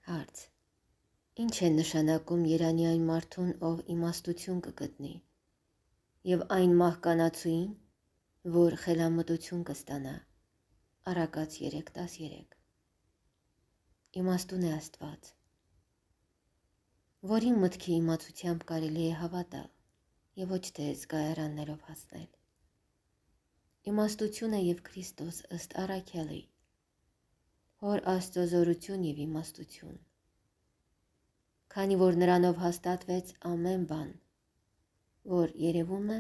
Հարց. Ինչ է նշանակում Երանի այն մարդուն, ով իմաստություն կգտնի, և այն մահկանացուին, որ խելամտություն կստանա։ Առակաց 3:13 Իմաստուն է Աստված, որին մտքի իմացությամբ կարելի է հավատալ և ոչ թե զգայարաններով հասնել։ Իմաստությունը և Քրիստոս ըստ առաքյալի, Հոր Աստծո զորություն և իմաստություն, քանի որ նրանով հաստատվեց ամեն բան, որ երևում է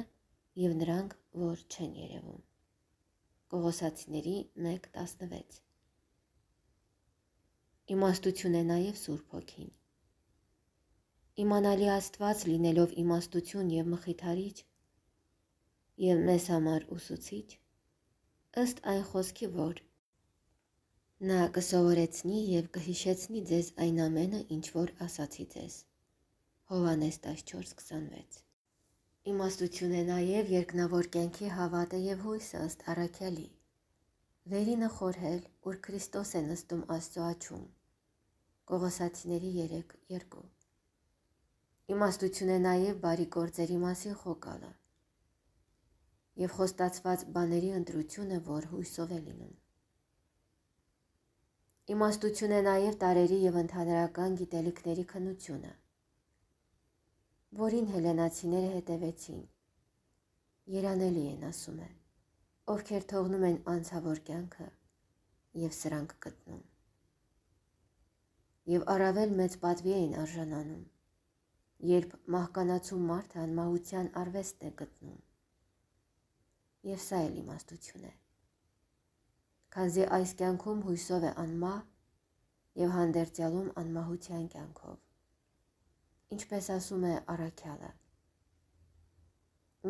և նրանք, որ չեն երևում։ Կողոսացիների 1:16 Իմաստություն է նաև Սուրբ Հոգին։ Իմանալի Աստված լինելով իմաստություն և մխիթարիչ և մեզ համար ուսուցիչ, ըստ այն խոսքի, որ նա կսովորեցնի և կհիշեցնի ձեզ այն ամենը, ինչ որ ասացի ձեզ։ Հովհաննես 14:26 Իմաստություն է նաև երկնավոր կյանքի հավատը և հույսը ըստ առաքյալի, վերինը խորհել, ուր Քրիստոս է նստում Աստծո աջում։ Կողոսացիների 3:2 Իմաստություն է նաև բարի գործերի մասին խոկալը և խոստացված բաների ընտրությունը, որ հույսով է լինում։ Իմաստություն է նաև տարրերի և ընդհանրական գիտելիքների քննությունը, որին հելլենացիները հետևեցին։ Երանելի են, ասում է, ովքեր թողնում են անցավոր կյանքը և սրանք գտնում։ Եվ առավել մեծ պատվի էին արժանանում, երբ մահկանացու մարդը անմահության արվեստն է գտնում։ Եվ սա էլ իմաստություն է, քանզի այս կյանքում հույսով է անմահ և հանդերձյալում անմահության կյանքով, ինչպես ասում է առաքյալը,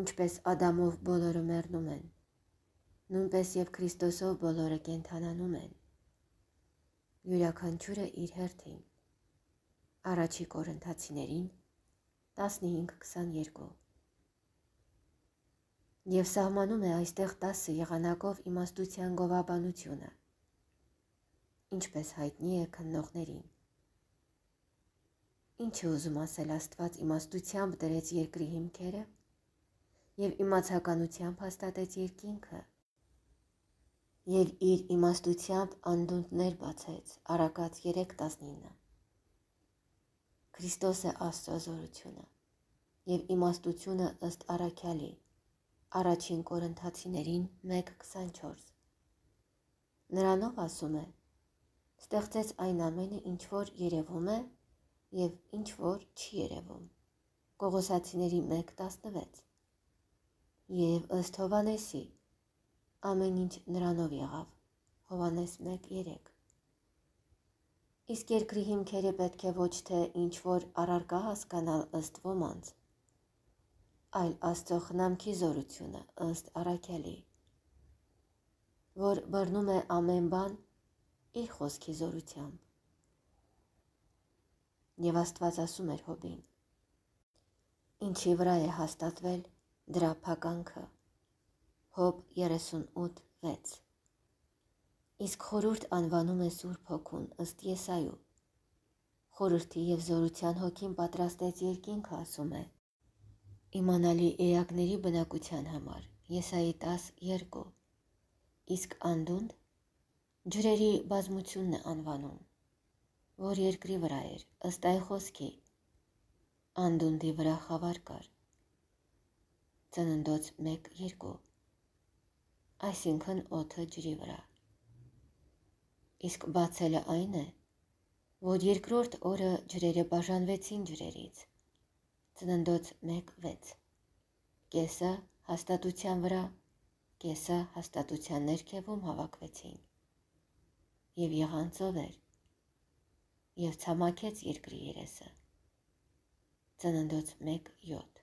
ինչպես Ադամով բոլորը մեռնում են, նույնպես և Քրիստոսով բոլորը կենդանանում են, յուրաքանչյուրը իր հերթին։ Առաջի Կորինթացիներին 15:22 Եվ սահմանում է այստեղ 10 եղանակով իմաստության գովաբանությունը, ինչպես հայտնի է քննողներին։ Ինչ է ուզում ասել Աստված իմաստությամբ դրեց երկրի հիմքերը և իմացականությամբ հաստատեց երկինքը և իր իմաստությամբ անդունդներ բացեց, Առակաց 3:19 Քրիստոս է Աստծո զորությունը և իմաստությունը ըստ առաքյալի, առաջին Կորինթացիներին 1:24 Նրանով, ասում է, ստեղծեց այն ամենը, ինչ որ երևում է և ինչ որ չի երևում, Կողոսացիների 1:16 և ըստ Հովհաննեսի, ամեն ինչ նրանով եղավ, Հովհաննես 1:3 Իսկ երկրի հիմքերը պետք է ոչ թե ինչ որ առարկա հասկանալ ըստ ոմանց, այլ Աստծո խնամքի զորությունը ըստ առաքյալի, որ բռնում է ամեն բան իր խոսքի զորությամբ։ Եվ Աստված ասում էր Հոբին. ինչի վրա է հաստատվել դրա փականքը, Հոբ 38:6 Իսկ խորհուրդ անվանում է Սուրբ Հոգուն ըստ Եսայու, խորհրդի և զորության հոգին պատրաստեց երկինքը, ասում է, իմանալի էակների բնակության համար, Եսայի 10:2 Իսկ անդունդ ջրերի բազմությունն է անվանում, որ երկրի վրա էր, ըստ այն խոսքի, անդունդի վրա խավար կար, Ծննդոց 1:2 Այսինքն օդը ջրի վրա։ Իսկ բացելը այն է, որ երկրորդ օրը ջրերը բաժանվեցին ջրերից, Ծննդոց 1:6 Կեսը հաստատության վրա, կեսը հաստատության ներքևում հավաքվեցին, և եղան ծովեր, և ցամաքեց երկրի երեսը, Ծննդոց 1:7